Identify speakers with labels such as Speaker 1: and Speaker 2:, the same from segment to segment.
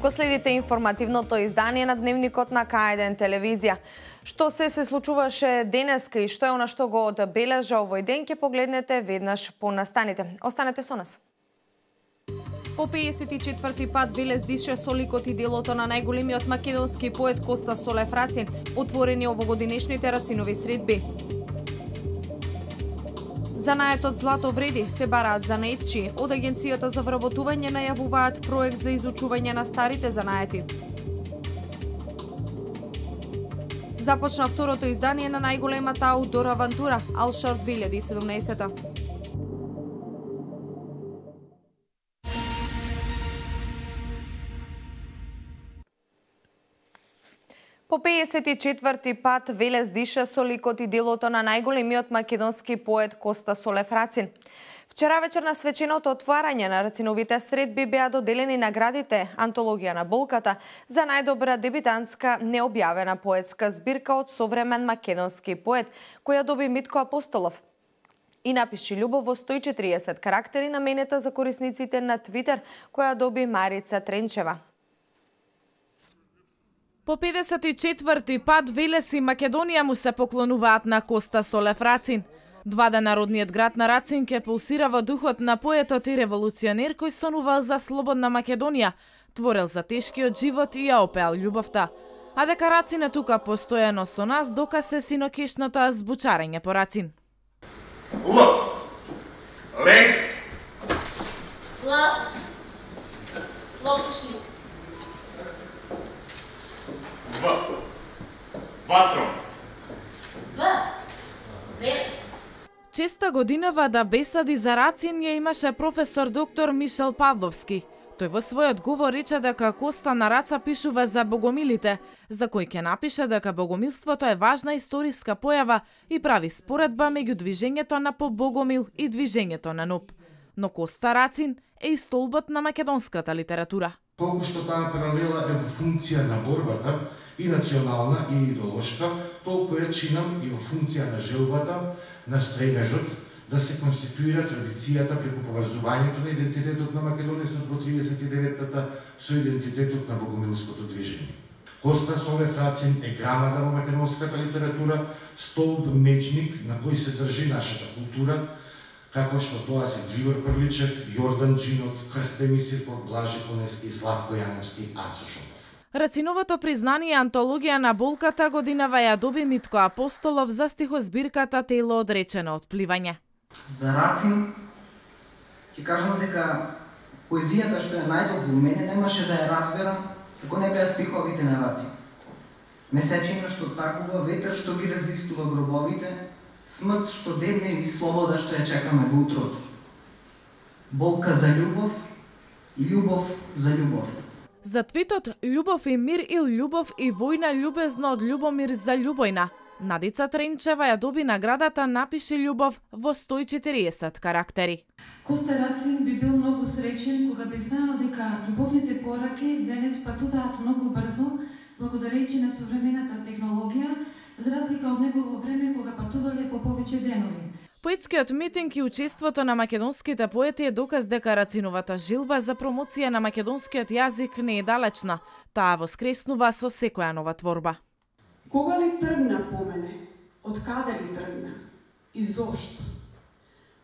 Speaker 1: Го следите информативното издание на Дневникот на К1 телевизија. Што се случуваше денеска и што е она што го одбележа овој ден, ќе погледнете веднаш по настаните. Останете со нас. По 54-ти пат Велес дише со ликот и делото на најголемиот македонски поет Коста Солев Рацин, отворени овогодинешните Рацинови средби. Занаетот злато вреди, се бараат занаетчи. Од Агенцијата за вработување најавуваат проект за изучување на старите занаети. Започна второто издание на најголемата аутдор авантура Алшарт 2017. По 54-ти пат Велес дише со ликот и делото на најголемиот македонски поет Коста Солев Рацин. Вчера вечер на свеченото отварање на Рациновите средби беа доделени наградите Антологија на болката за најдобра дебитантска необјавена поетска збирка од современ македонски поет, која доби Митко Апостолов. И напиши љубов во 140 карактери наменета за корисниците на Твитер, која доби Марица Тренчева.
Speaker 2: По 54-ти пат Велес и Македонија му се поклонуваат на Коста Солев Рацин. Двада народниот град на Рацин ке пулсира во духот на поетот и револуционер кој сонувал за слободна Македонија, творел за тешкиот живот и ја опеал љубовта. А дека Рацин е тука постојано со нас, доказ е синокешното азбучарење по Рацин.
Speaker 3: Л. Ленк.
Speaker 4: Л. Лопушник.
Speaker 3: В. Ватрон.
Speaker 4: В. Велес.
Speaker 2: Честа годинава да беседи за Рацин ја имаше професор доктор Мишел Павловски. Тој во својот говор рече дека Коста на Раца пишува за богомилите, за кој ќе напише дека богомилството е важна историска појава и прави споредба меѓу движењето на поп-богомил и движењето на НОП. Но Коста Рацин е и столбот на македонската литература.
Speaker 5: Колку што таа паралела е во функција на борбата, и национална и идеолошка, толку е чинам и во функција на желбата, на стремежот да се конституира традицијата преку поврзувањето на идентитетот на македонецот во 39-та со идентитетот на богомилското движење. Коста Солев Рацин е грамада во македонската литература, столб мечник на кој се држи нашата култура, како што тоа се Григор Прличев, Јордан Джинот, Крстени Сирков, Блажи Конески, Славко Јаневски, Ацо Шопов.
Speaker 2: Рациновото признание Антологија на болката годинава ја доби Митко Апостолов за стихозбирката Тело одречено од пливање.
Speaker 6: За Рацин ќе кажам дека поезијата што е најдобро во мене немаше да ја разберам ако не беа стиховите на Рацин. Месечина што такува, ветер што ги разлистува гробовите, смрт што дебне и слобода што ја чекаме во утрото. Болка за љубов и љубов за љубовта.
Speaker 2: За твитот «Љубов и мир» или «Љубов и војна љубезно од Љубомир за Љубојна», Надица Тренчева ја доби наградата Напиши љубов во 140 карактери.
Speaker 7: Коста Рацин би бил многу среќен кога би знаел дека љубовните пораки денес патуваат многу брзо благодарејќи на современата технологија, за разлика од негово време кога патувале по повеќе денови.
Speaker 2: Поетскиот митинг и учеството на македонските поети е доказ дека Рациновата жилба за промоција на македонскиот јазик не е далечна, таа воскреснува со секоја нова творба.
Speaker 8: Кога ли тргна по мене? Од каде ли тргна? И зошто?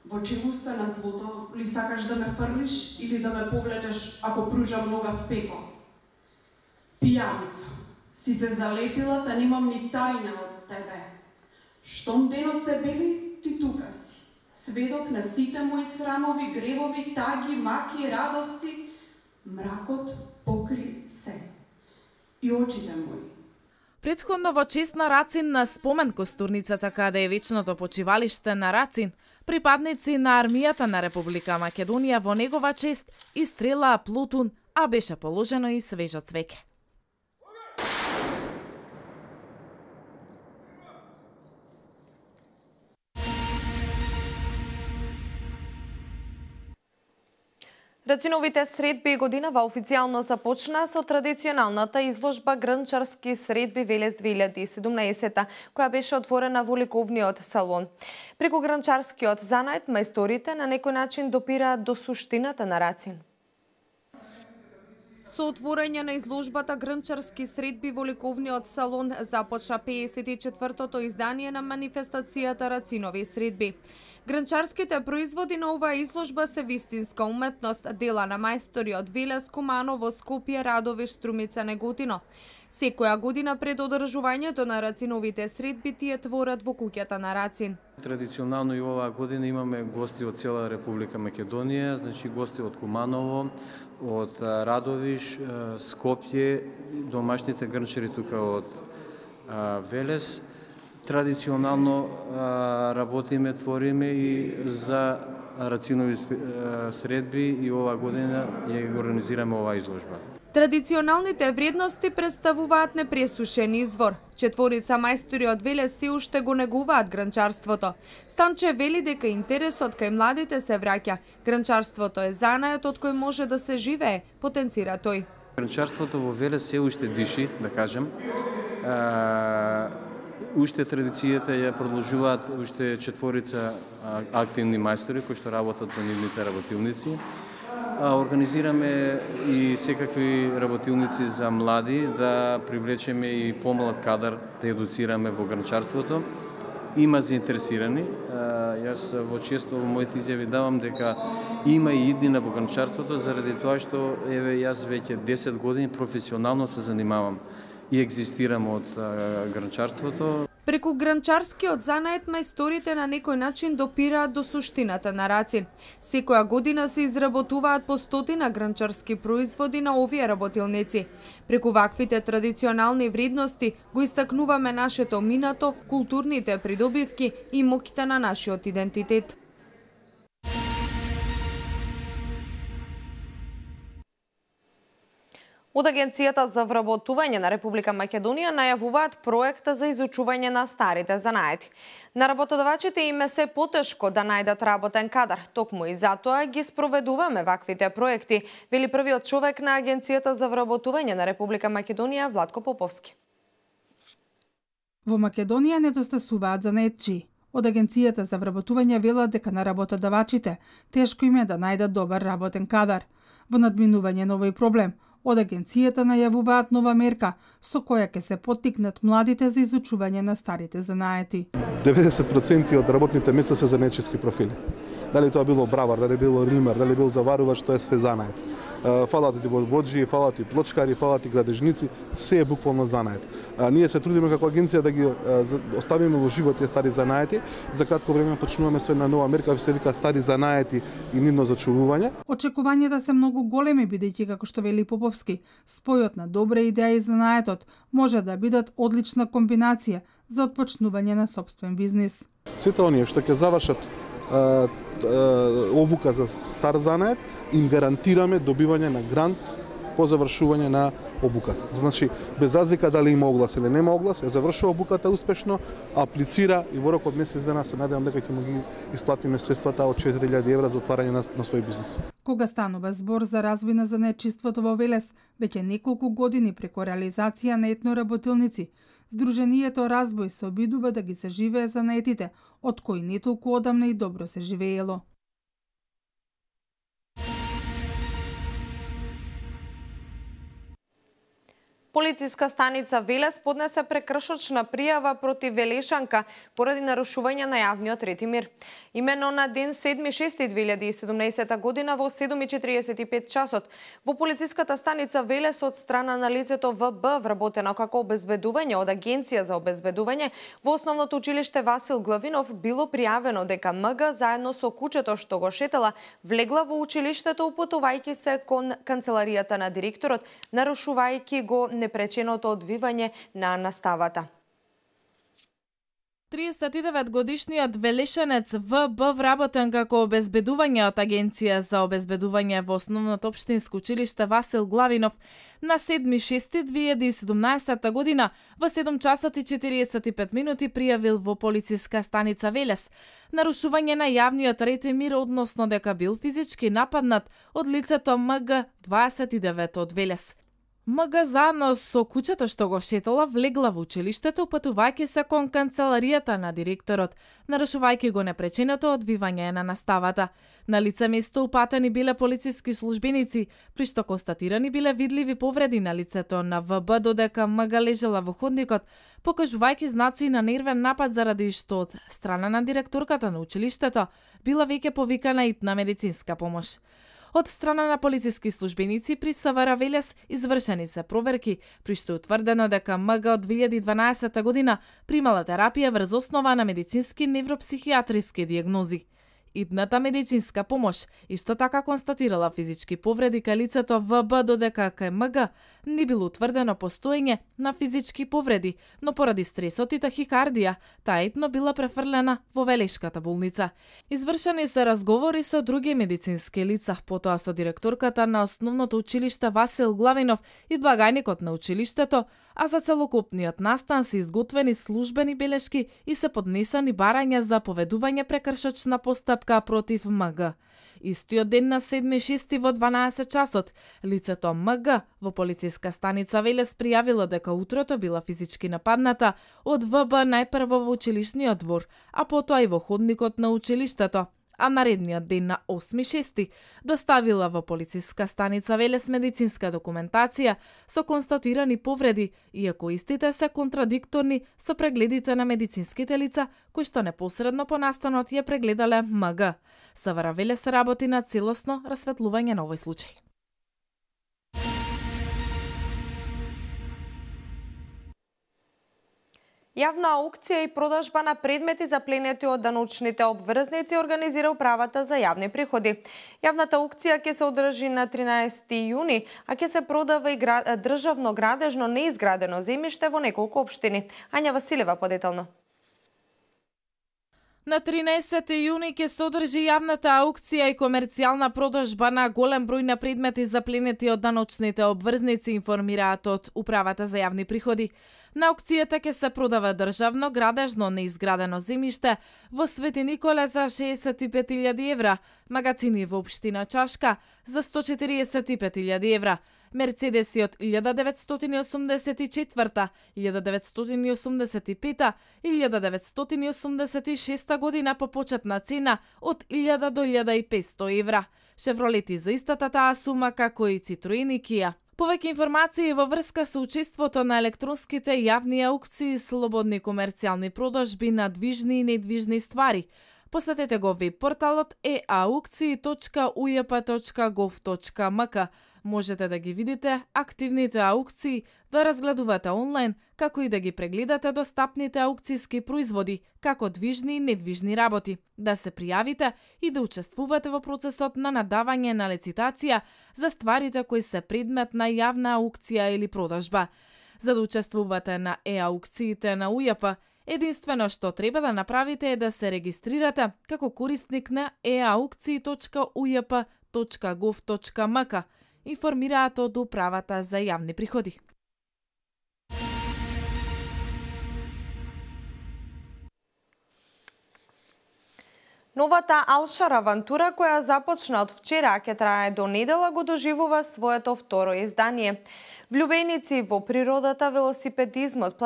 Speaker 8: Во челуста на злото ли сакаш да ме фрлиш или да ме повлечеш ако пружам нога в пекол? Пијаница, си се залепила, та немам ни тајна од тебе. Штом денот се бели, ти тука си. Сведок на сите мои срамови, гревови, таги, маки, радости. Мракот покри се. И очите мои.
Speaker 2: Претходно во чест на Рацин на спомен костурницата каде е вечното почивалиште на Рацин, припадници на армијата на Република Македонија во негова чест истрелаа Плутун, а беше положено и свежо цвеќе.
Speaker 1: Рациновите средби годинава официјално започна со традиционалната изложба Грнчарски средби Велес 2017, која беше отворена во ликовниот салон. Преку грнчарскиот занајд, мајсторите на некој начин допираат до суштината на рацин. Со отворање на изложбата Грнчарски средби во ликовниот салон започна 54-тото издание на манифестацијата Рацинови средби. Грнчарските производи на оваа изложба се вистинска уметност, дела на мајстори од Велес, Куманово, Скопје, Радовиш, Струмица, Неготино. Секоја година пред одржувањето на Рациновите средби тие творат во куќата на Рацин.
Speaker 9: Традиционално и оваа година имаме гости од цела Република Македонија, значи гости од Куманово, од Радовиш, Скопје, домашните грнчари тука од Велес. Традиционално работиме, твориме и за Рацинови средби и оваа година ја организираме оваа изложба.
Speaker 1: Традиционалните вредности представуваат непресушен извор. Четворица мајстори од Велес се уште го негуваат грнчарството. Станче вели дека интересот кај младите се враќа. Грнчарството е занајот од кој може да се живее, потенцира тој.
Speaker 9: Грнчарството во Велес се уште диши, да кажем. Уште традицијата ја продолжуваат уште четворица активни мајстори кои што работат во нивните работилници. Организираме и секакви работилници за млади, да привлечеме и помлад кадар, да едуцираме во грнчарството. Има заинтересирани. Јас во често во моите изјави давам дека има и иднина во грнчарството, заради тоа што еве јас веќе 10 години професионално се занимавам и екзистирам од грнчарството.
Speaker 1: Преку грнчарскиот занајд мајсторите на некој начин допираат до суштината на Рацин. Секоја година се изработуваат по 100 грнчарски производи на овие работилници. Преку ваквите традиционални вредности го истакнуваме нашето минато, културните придобивки и моќта на нашиот идентитет. Од Агенцијата за вработување на Република Македонија најавуваат проект за изучување на старите занаети. На работодавачите им е се потешко да најдат работен кадар, токму и затоа ги спроведуваме ваквите проекти, вели првиот човек на Агенцијата за вработување на Република Македонија Владко Поповски.
Speaker 10: Во Македонија недостасуваат занаетчии. Од Агенцијата за вработување велат дека на работодавачите тешко им е да најдат добар работен кадар. Во надминување на овој проблем, од Агенцијата најавуваат нова мерка со која ќе се поттикнат младите за изучување на старите занаети.
Speaker 11: 90% од работните места се занаетчиски профили. Дали тоа било бравар, дали било ример, дали било заварувач, тоа е све занает. Фалат и воджи, фалат и плочкари, фалат и градежници, се е буквално занает. Ние се трудиме како агенција да ги оставиме во живот тие стари занаети. За кратко време почнуваме со една нова мерка, се вика стари занаети и нивно зачувување.
Speaker 10: Очекувањата се многу големи, бидејќи како што вели Поповски, спојот на добра идеја и занаетот може да бидат одлична комбинација за отпочнување на сопствен бизнис.
Speaker 11: Сите оние што ќе завршат обука за стар занает, им гарантираме добивање на грант по завршување на обуката. Значи, без разлика дали има оглас или нема оглас, ја завршува обуката успешно, аплицира и во рок од месец дена се надевам дека ќе му ги исплатиме средствата од 4000 евра за отварање на свој бизнис.
Speaker 10: Кога станува збор за развој на занаетчиството во Велес, веќе неколку години преку реализација на етноработилници, Сдруженијето Разбој се обидува да ги се живее занаетите, од кои не толку одамна и добро се живеело.
Speaker 1: Полициска станица Велес поднесе прекршочна пријава против велешанка поради нарушување на јавниот ред и мир. Имено на ден 7.6.2017 година во 7:45 часот во полициската станица Велес од страна на лицето ВБ вработено како обезбедување од Агенција за обезбедување во основното училиште Васил Главинов било пријавено дека МГ заедно со кучето што го шетела влегла во училиштето упатувајќи се кон канцеларијата на директорот, нарушувајќи го непреченото одвивање на наставата.
Speaker 2: 39-годишниот велешенец В.Б. вработен како обезбедување од Агенција за обезбедување во Основното општинско училиште Васил Главинов на 7.6.2017 година во 7 часот и 45 минути пријавил во полициска станица Велес нарушување на јавниот ред и мир, односно дека бил физички нападнат од лицето МГ 29 од Велес. МГ заедно со кучето што го шетала влегла во училиштето, патувајќи се кон канцеларијата на директорот, нарушувајќи го непреченото одвивање на наставата. На лице место упатени биле полициски службеници, при што констатирани биле видливи повреди на лицето на ВБ, додека МГ лежела во ходникот, покажувајќи знаци на нервен напад заради што од страна на директорката на училиштето била веќе повикана итна медицинска помош. Од страна на полициски службеници при СВР Велес извршени се проверки, при што утврдено дека МГ од 2012 година примала терапија врз основа на медицински невропсихијатриски дијагнози. Идната медицинска помош исто така констатирала физички повреди кај лицето ВБ, додека кај МГ не било утврдено постоење на физички повреди, но поради стресот и тахикардија, таа итно била префрлена во Велешката болница. Извршени се разговори со други медицински лица, потоа со директорката на Основното училиште Васил Главинов и благајникот на училиштето, а за целокупниот настан се изготвени службени белешки и се поднесени барања за поведување прекршочна постапка против МГ. Истиот ден на 7.6. во 12 часот, лицето МГ во полициска станица Велес пријавило дека утрото била физички нападната од ВБ најпрво во училишниот двор, а потоа и во ходникот на училиштето, а наредниот ден на 8.6. доставила во полициска станица Велес медицинска документација со констатирани повреди, иако истите се контрадикторни со прегледите на медицинските лица кои што непосредно по настанот ја прегледале МГ. СВР Велес работи на целосно расветлување на овој случај.
Speaker 1: Јавна аукција и продажба на предмети запленети од даночните обврзници организира Управата за јавни приходи. Јавната аукција ќе се одржи на 13 јуни, а ќе се продава и државно градежно неизградено земјиште во неколку општини. Ања Василева подетално.
Speaker 2: На 13 јуни ќе се одржи јавната аукција и комерцијална продажба на голем број на предмети запленети од даночните обврзници, информираат од Управата за јавни приходи. На аукцијата ќе се продава државно градежно неизградено земјиште во Свети Николе за 65.000 евра, магацини во општина Чашка за 145.000 евра, Мерцедеси од 1984, 1985 и 1986 година по почетна цена од 1000 до 1500 евра, Шевролети за истата таа сума, како и Citroen и Kia. Повеќе информации во врска со учеството на електронските јавни аукции и слободни комерцијални продажби на движни и недвижни ствари. Посетете го веб порталот eaukции.ujp.gov.mk. Можете да ги видите активните аукции, да разгледувате онлайн, како и да ги прегледате достапните аукцијски производи, како движни и недвижни работи, да се пријавите и да учествувате во процесот на надавање на лицитација за стварите кои се предмет на јавна аукција или продажба. За да учествувате на аукциите на УЈП, единствено што треба да направите е да се регистрирате како корисник на eaukции.ujp.gov.mk, информираат од Управата за јавни приходи.
Speaker 1: Новата Алшар авантура, која започна од вчера, ќе трае до недела, го доживува своето второ издание. Влюбеници во природата, велосипедизмот,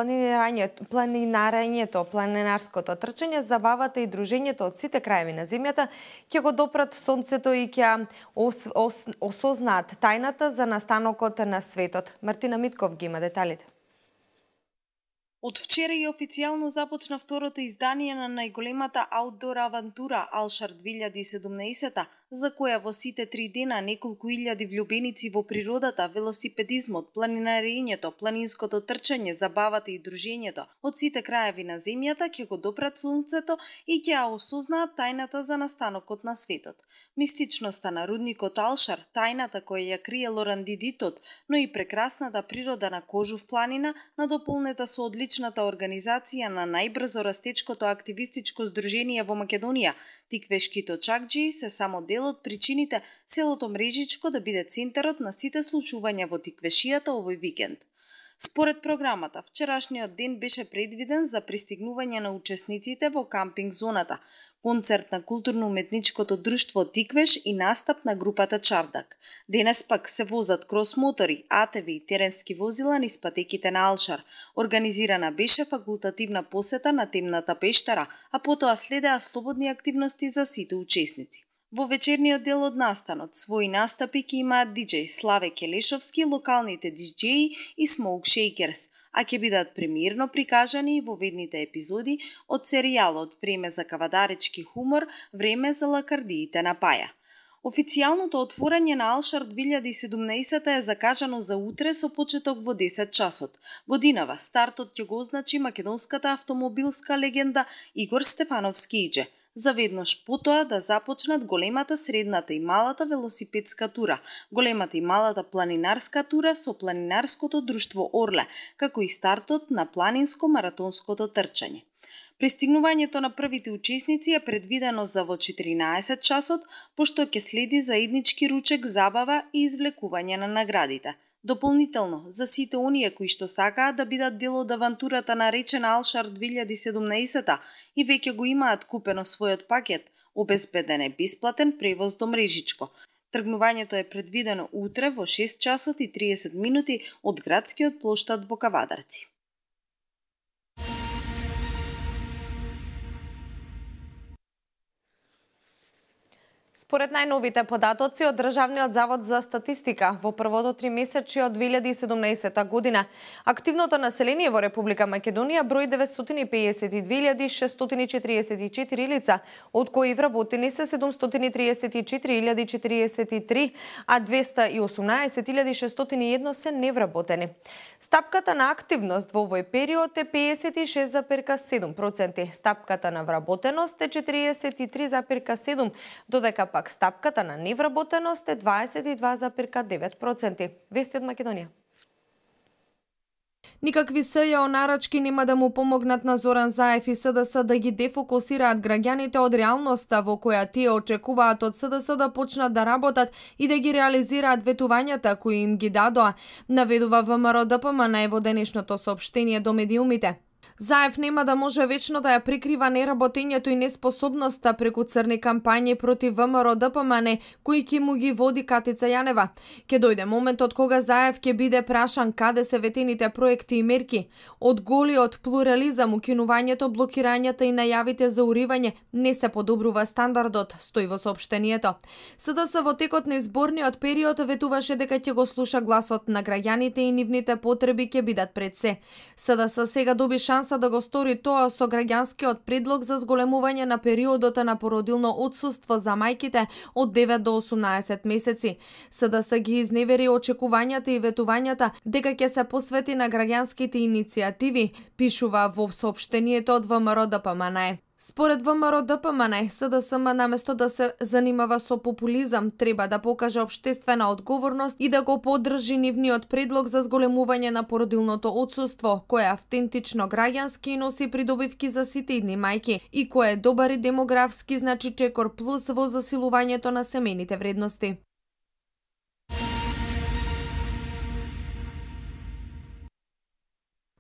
Speaker 1: планинарското трчање, забавата и дружењето од сите краеви на земјата ќе го допрат сонцето и ќе осознаат тајната за настанокот на светот. Мартина Митков ги има деталите.
Speaker 12: Од вчера и официјално започна второто издание на најголемата аутдор авантура Алшар 2017, за која во сите 3 дена неколку илјади влюбеници во природата, велосипедизмот, планинарењето, планинското трчање, забавата и дружењето од сите краеви на земјата ќе го допрат сонцето и ќе ја осознаат тајната за настанокот на светот. Мистичноста на рудникот Алшар, тајната која ја крие лорандидитот, но и прекрасната природа на Кожув планина, надополнета со одличната организација на најбрзо растечкото активистичко здружение во Македонија, Тиквешки точакџии, се само дел од причините селото Мрежичко да биде центарот на сите случувања во Тиквешијата овој викенд. Според програмата, вчерашниот ден беше предвиден за пристигнување на учесниците во кампинг зоната, концерт на културно-уметничкото друштво Тиквеш и настап на групата Чардак. Денес пак се возат крос-мотори, АТВ и теренски возила низ патеките на Алшар. Организирана беше факултативна посета на темната пештера, а потоа следеа слободни активности за сите учесници. Во вечерниот дел од настанот, своји настапи ќе имаат диџеј Славе Келешовски, локалните диџеи и Smoke Shakers, а ќе бидат премиерно прикажани во ведните епизоди од серијалот Време за кавадаречки хумор, Време за лакардиите на Паја. Официјалното отворање на Алшар 2017 е закажано за утре со почеток во 10 часот. Годинава стартот ќе го означи македонската автомобилска легенда Игор Стефановски Иџе. Заведнаш потоа да започнат големата, средната и малата велосипедска тура, големата и малата планинарска тура со планинарското друштво Орле, како и стартот на планинско-маратонското трчање. Пристигнувањето на првите учесници е предвидено за во 14 часот, пошто ќе следи заеднички ручек, забава и извлекување на наградите. Дополнително, за сите оние кои што сакаат да бидат дел од авантурата наречена Алшар 2017 и веќе го имаат купено својот пакет, обезбеден е бесплатен превоз до Мрежичко. Тргнувањето е предвидено утре во 6 часот и 30 минути од градскиот плоштад во Кавадарци.
Speaker 1: Според најновите податоци од Државниот завод за статистика, во првото тримесечие од 2017 година, активното население во Република Македонија брои 952.644 лица, од кои вработени се 734.043, а 218.601 се невработени. Стапката на активност во овој период е 56,7%, стапката на вработеност е 43,7%, додека пак стапката на невработеност е 22,9%. Вести од Македонија. Никакви СЈО нарачки нема да му помогнат на Зоран Заев и СДС да ги дефокусираат граѓаните од реалноста во која тие очекуваат од СДС да почнат да работат и да ги реализираат ветувањата кои им ги дадоа, наведува ВМРО-ДПМН во денешното соопштение до медиумите. Заев нема да може вечно да ја прикрива неработењето и неспособноста преку црни кампањи против ВМРО-ДПМН кои ќе му ги води Катица Јанева. Ќе дојде моментот кога Заев ќе биде прашан каде се ветените проекти и мерки. Од голиот плурализам, укинувањето, блокирањата и најавите за уривање не се подобрува стандардот, стои во соопштението. СДС во текот на изборниот период ветуваше дека ќе го слуша гласот на граѓаните и нивните потреби ќе бидат пред се. СДС сега доби шанса да го стори тоа со граѓанскиот предлог за зголемување на периодот на породилно отсуство за мајките од 9 до 18 месеци. СДС ги изневери очекувањата и ветувањата дека ќе се посвети на граѓанските иницијативи, пишува во соопштението од ВМРО-ДПМН. Според ВМРО-ДПМН, СДСМ наместо да се занимава со популизам, треба да покаже општествена одговорност и да го поддржи нивниот предлог за зголемување на породилното отсуство, кој е автентично граѓански и носи придобивки за сите идни мајки и кој е добар и демографски, значи чекор плюс во засилувањето на семејните вредности.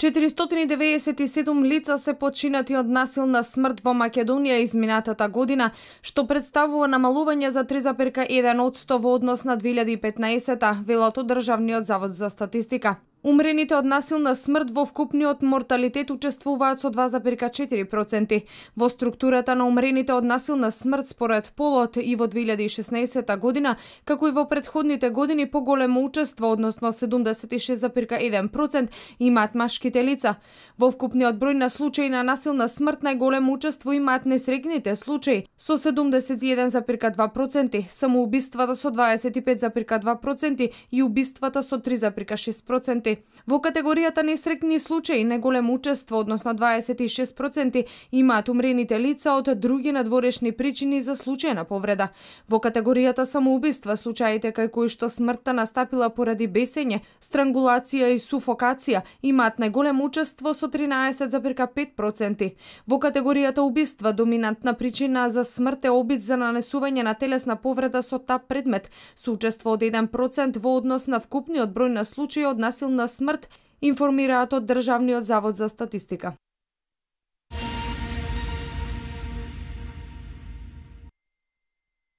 Speaker 1: ...497 лица се починати од насилна смрт во Македонија изминатата година, што представува намалување за 3,1% во однос на 2015-та, велото Државниот завод за статистика. Умрените од насилна смрт во вкупниот морталитет учествуваат со 2,4%. Во структурата на умрените од насилна смрт според полот и во 2016 година, како и во претходните години, поголемо учество, односно 76,1%, имаат машките лица. Во вкупниот број на случаи на насилна смрт најголемо учество имаат несрекните случаи со 71,2%, самоубиствата со 25,2% и убиствата со 3,6%. Во категоријата несрекни случаи најголемо учество, односно 26%, имаат умрените лица од други надворешни причини за случај на повреда. Во категоријата самоубиства, случаите кај кои што смртта настапила поради бесење, странгулација и суфокација, имаат најголемо учество со 13,5%. Во категоријата убиства, доминантна причина за смрт е обид за нанесување на телесна повреда со тап предмет, со учество од 1% во однос на вкупниот број на случаи од насилна смрт, информираат од Државниот завод за статистика.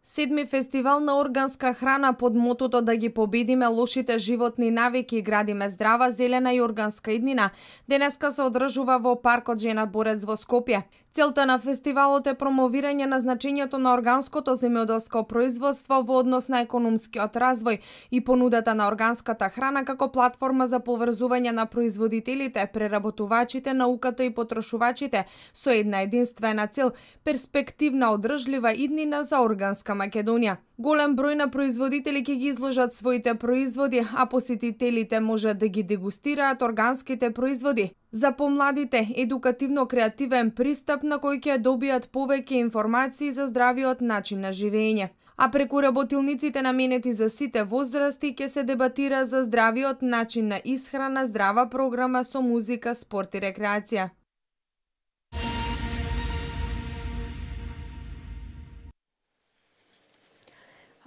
Speaker 1: Седми фестивал на органска храна под мотото да ги победиме лошите животни навики и градиме здрава, зелена и органска иднина, денеска се одржува во паркот Жена Борец во Скопје. Целта на фестивалот е промовирање на значењето на органското земјоделско производство во однос на економскиот развој и понудата на органската храна како платформа за поврзување на производителите, преработувачите, науката и потрошувачите со една единствена цел – перспективна одржлива иднина за органска Македонија. Голем број на производители ќе ги изложат своите производи, а посетителите може да ги дегустираат органските производи. За помладите, едукативно-креативен пристап на кој ќе добијат повеќе информации за здравиот начин на живење. А преку работилниците наменети за сите возрасти ќе се дебатира за здравиот начин на исхрана, здрава програма со музика, спорт и рекреација.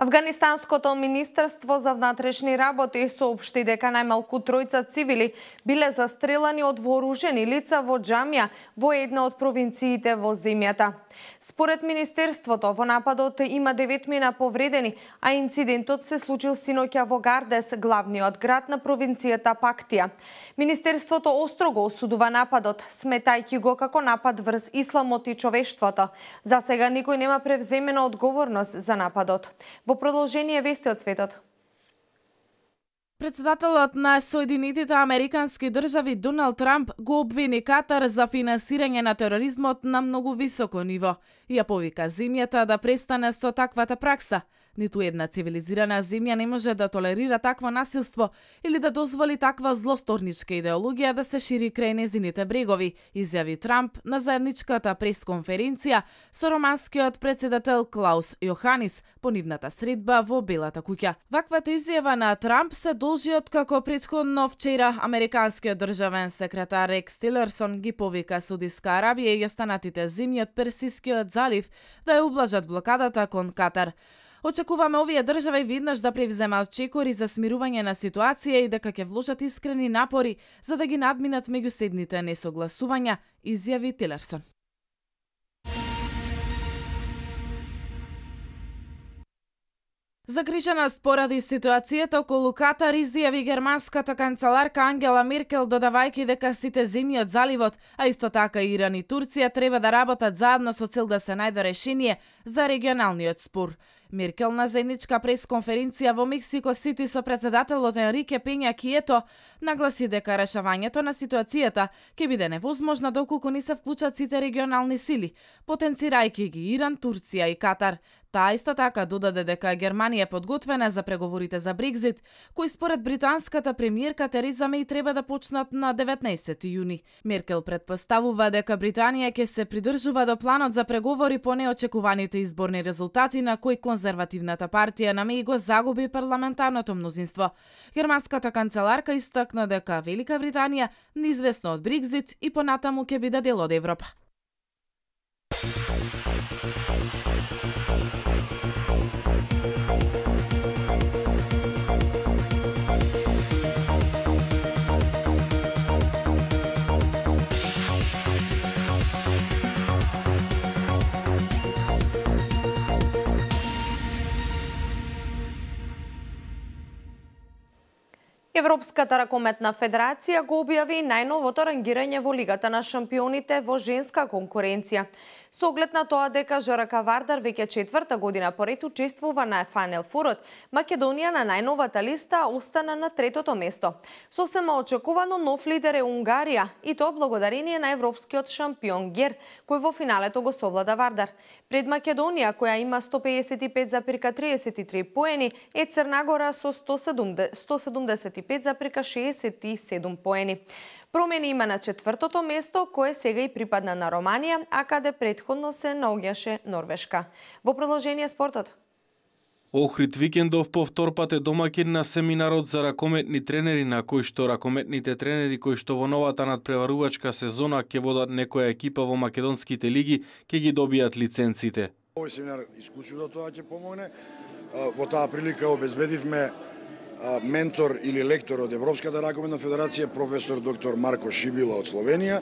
Speaker 1: Афганистанското министерство за внатрешни работи соопшти дека најмалку 3 цивили биле застрелани од вооружени лица во џамија во една од провинциите во земјата. Според министерството, во нападот има 9 повредени, а инцидентот се случил синоќа во Гардес, главниот град на провинцијата Пактија. Министерството острого осудува нападот, сметајќи го како напад врз исламот и човештвото. За сега никој нема превземена одговорност за нападот. Во продолжение вести од светот.
Speaker 2: Председателот на Соединетите Американски држави Доналд Трамп го обвини Катар за финансирање на тероризмот на многу високо ниво и ја повика земјата да престане со таквата пракса. Ниту една цивилизирана земја не може да толерира такво насилство или да дозволи таква злосторничка идеологија да се шири крај незините брегови, изјави Трамп на заедничката пресконференција со романскиот председател Клаус Јоханис по нивната средба во Белата куќа. Ваквата изјава на Трамп се должи од како претходно вчера американскиот државен секретар Рекс Тилерсон ги повика Саудиска Арабија и останатите земји од Персискиот залив да ја ублажат блокадата кон Катар. Очекуваме овие држави веднаш да превземат чекори за смирување на ситуација и дека ќе вложат искрени напори за да ги надминат меѓусебните несогласувања, изјави Тилерсон. Загриженост поради ситуацијата околу Катар изјави германската канцеларка Ангела Меркел, додавајќи дека сите земји од заливот, а исто така и Иран и Турција треба да работат заедно со цел да се најде решение за регионалниот спор. Меркел на заедничка пресконференција во Мексико Сити со председателот Енрике Пења Кието нагласи дека решавањето на ситуацијата ќе биде невозможно доколку не се вклучат сите регионални сили, потенцирајќи ги Иран, Турција и Катар. Таа исто така додаде дека Германија е подготвена за преговорите за Брекзит, кои според британската премиерка Тереза Меј треба да почнат на 19 јуни. Меркел претпоставува дека Британија ќе се придржува до планот за преговори по неочекуваните изборни резултати на кои конзервативната партија на Меј го загуби парламентарното мнозинство. Германската канцеларка истакна дека Велика Британија неизвестно од Брекзит и понатаму ќе биде дел од Европа.
Speaker 1: Европската ракометна федерација го објави најновото рангирање во Лигата на шампионите во женска конкуренција. Со оглед на тоа дека ЖРК Вардар веќе четврта година поред учествува на Final Four, Македонија на најновата листа остана на третото место. Сосема очекувано нов лидер е Унгарија, и тоа благодарение на европскиот шампион Гер, кој во финалето го совлада Вардар. Пред Македонија, која има 155,33 поени, е Црнагора со 175,67 поени. Промени има на четвртото место, кое сега и припадна на Романија, а каде претходно се наоѓаше Норвешка. Во продолжение спортот.
Speaker 13: Охрид викендов по втор пат е домаќин на семинарот за ракометни тренери, на кој што ракометните тренери кои што во новата надпреварувачка сезона ќе водат некоја екипа во македонските лиги, ќе ги добијат лиценците.
Speaker 14: Овој семинар исклучува тоа ќе помогне. Во таа прилика обезбедивме ментор или лектор од Европската ракометна федерација, професор доктор Марко Шибила од Словенија.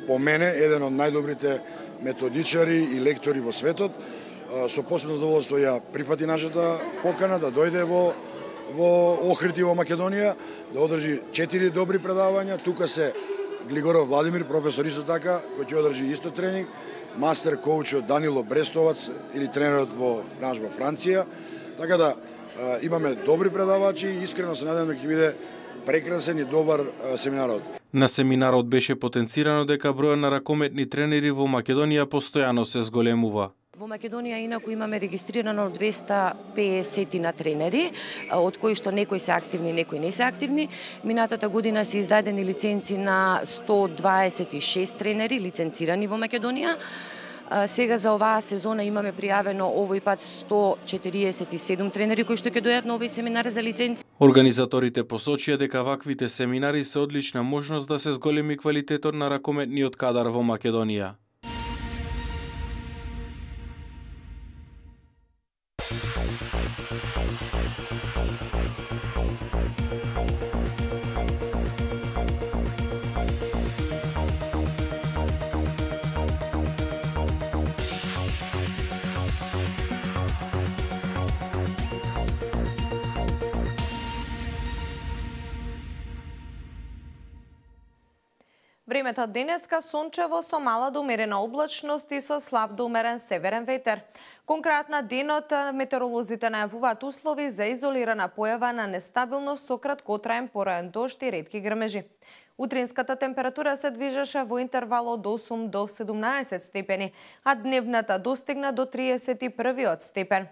Speaker 14: По мене, еден од најдобрите методичари и лектори во светот. Со посебно задоволство ја прифати нашата покана да дојде во Охрид и во Македонија, да одржи 4 добри предавања. Тука се Глигоров Владимир, професор исто така, кој ќе одржи исто тренинг, мастер коучот Данило Брестовац или тренерот во Франција. Така да имаме добри предавачи и искрено се надевам дека ќе биде прекрасен и добар семинарот.
Speaker 13: На семинарот беше потенцирано дека бројот на ракометни тренери во Македонија постојано се зголемува.
Speaker 15: Во Македонија инаку имаме регистрирано 250 на тренери, од кои што некои се активни, некои не се активни. Минатата година се издадени лиценци на 126 тренери лиценцирани во Македонија. Сега за оваа сезона имаме пријавено овој пат 147 тренери кои што ќе дојдат на овој семинар за лиценци.
Speaker 13: Организаторите посочија дека ваквите семинари се одлична можност да се зголеми квалитетот на ракометниот кадар во Македонија.
Speaker 1: Времето денеска сончево со мала до умерена облачност и со слаб до умерен северен ветер. Конкретно денот метеоролозите најавуваат услови за изолирана појава на нестабилност со краткотраен пораен дожд и ретки грмежи. Утринската температура се движеше во интервал од 8 до 17 степени, а дневната достигна до 31 степен.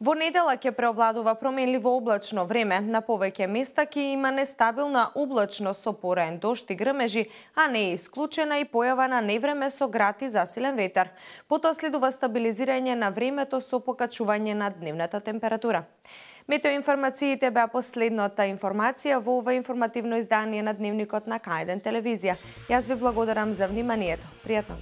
Speaker 1: Во недела ќе преовладува променливо облачно време, на повеќе места ќе има нестабилна облачност со пораен дожд и грмежи, а не е исклучена и појава на невреме со град и засилен ветер. Потоа следува стабилизирање на времето со покачување на дневната температура. Метеоинформациите беа последната информација во ова информативно издание на Дневникот на К1 телевизија. Јас ви благодарам за вниманието. Пријатно!